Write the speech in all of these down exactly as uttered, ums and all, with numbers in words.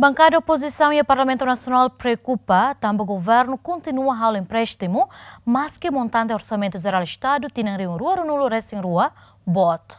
Bankada opozisaun iha Parlamentu Nasionál preokupa tanba governu kontinua halo empréstimu, maski montante Orsamentu Jerál Estadu tinan rihun rua ruanulu resin rua boot.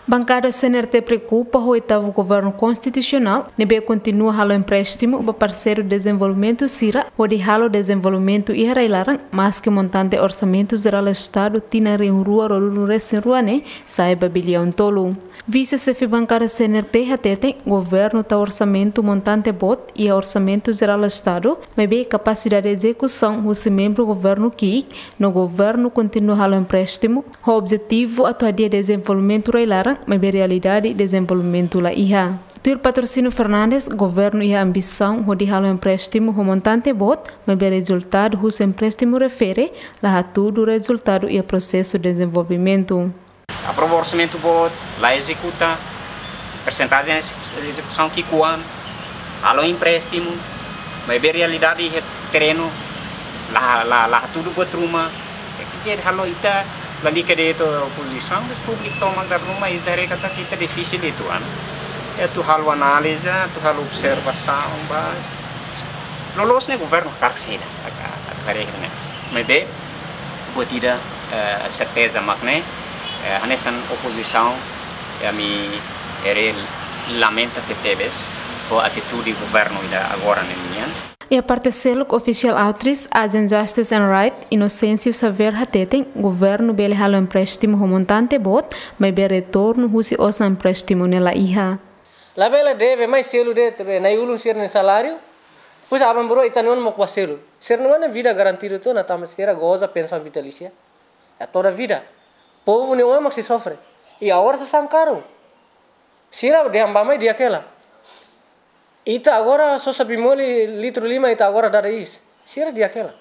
Bankada C N R T preokupa ho oitavu governu konstitusionál ne'ebé kontinua halo empréstimu ba parseiru dezenvolvimentu sira hodi halo dezenvolvimentu iha rai-laran, maski montante Orsamentu Jerál Estadu tinan rihun rua ruanulu resin rua ne'e sa'e ba biliaun tolu. Vise-Xefe Bankada C N R T hateten, governu tau orsamentu montante boot iha Orsamentu Jerál Estadu, maibé kapasidade ezekusaun husi membru governu ki'ik, no governu kontinua halo empréstimu ho objetivu atu hadi'a dezenvolvimentu rai-laran, maibé realidade dezenvolvimentu la iha. Tuir Patrocínio Fernandes, governu iha ambisaun hodi halo empréstimu ho montante boot, maibé rezultadu husi empréstimu refere la hatudu rezultadu iha prosesu dezenvolvimentu. Aprova orsamentu boot, la ezekuta, persentajen ezekusaun ki'ikoan, halo empréstimu, maibé realidade iha terrenu la, la, la hatudu buat ruma. Ke halo ita, lalika de'it opozisaun, mas públiku tomak dala ruma, ita haree katak ita difisil uitoan. Atu halo análize, atu halo observasaun ba loloos ne'e governu hakarak saida, atu haree ne'e. Maibé buat ida, eh, serteza mak ne'e, eh, hanesan opozisaun, eh, ami haree lamenta tebetebes ho atitude governu ida agora ne'e nian. Iha parte seluk, official authoris Asian Justice and Right, Inocêncio Xavier hateten, governu bele halo empréstimu ho montante boot, maibé retornu husi osan empréstimu ne'e la iha. Labele deve mai selu de'it be nai-ulun sira-nia saláriu, depois aban-bainrua ita-nia oan mós bá selu. Sira-nia oan ne'e vida garantidu tiha ona tanba sira goza pensaun vitalísia. É toda vida. Povu nia oan mak sei sofre. I agora sasán karun. Sira dehan bá mai di'ak hela. Ita agora sosa bimoli litru lima, ita agora dada iis. Sira di'ak hela.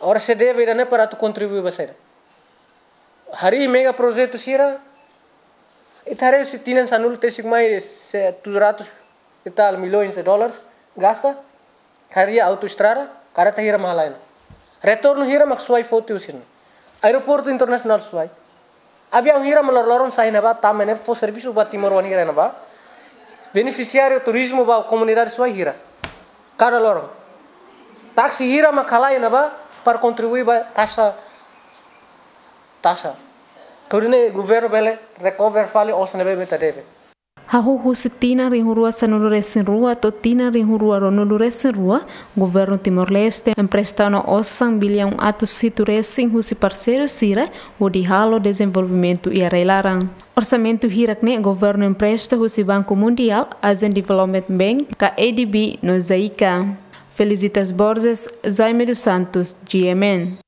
Agora sei deve ida-ne'e para atu kontribui ba saida? Harii megaprojetu sira, ita haree husi tinan sanulu-resin-sia mai se tujuh ratus e tal milhões de dólares gasta, harii autoestrada, karreta hira mak halai ona. Retornu hira mak Suai foti husi ne'e? Aeroportu Internasionál Suai. Aviaun hira mak loron-loron sa'e iha ne'ebá, tama iha ne'e fó servisu ba timoroan hira iha ne'ebá. Benefisiáriu turizmu ba komunidade Suai hira. Kada loron. Táksi hira mak halai iha ne'ebá para kontribui ba taxa, taxa. Hodi nune'e governu bele recover fali osan ne'ebé mak ita deve. Hahú husi tinan rihun rua sanulu-resin-rua to'o tinan rihun rua ruanulu-resin-rua, governu Timor-Leste empresta ona osan biliaun atus hitu resin husi parseiru sira hodi halo dezenvolvimentu iha rai-laran. Orsamentu hirak-ne'e governu empresta husi Banku Mundiál, Asian Development Bank, ka A D B no JICA. Felicitas Borges, Jaime dos Santos, G M N.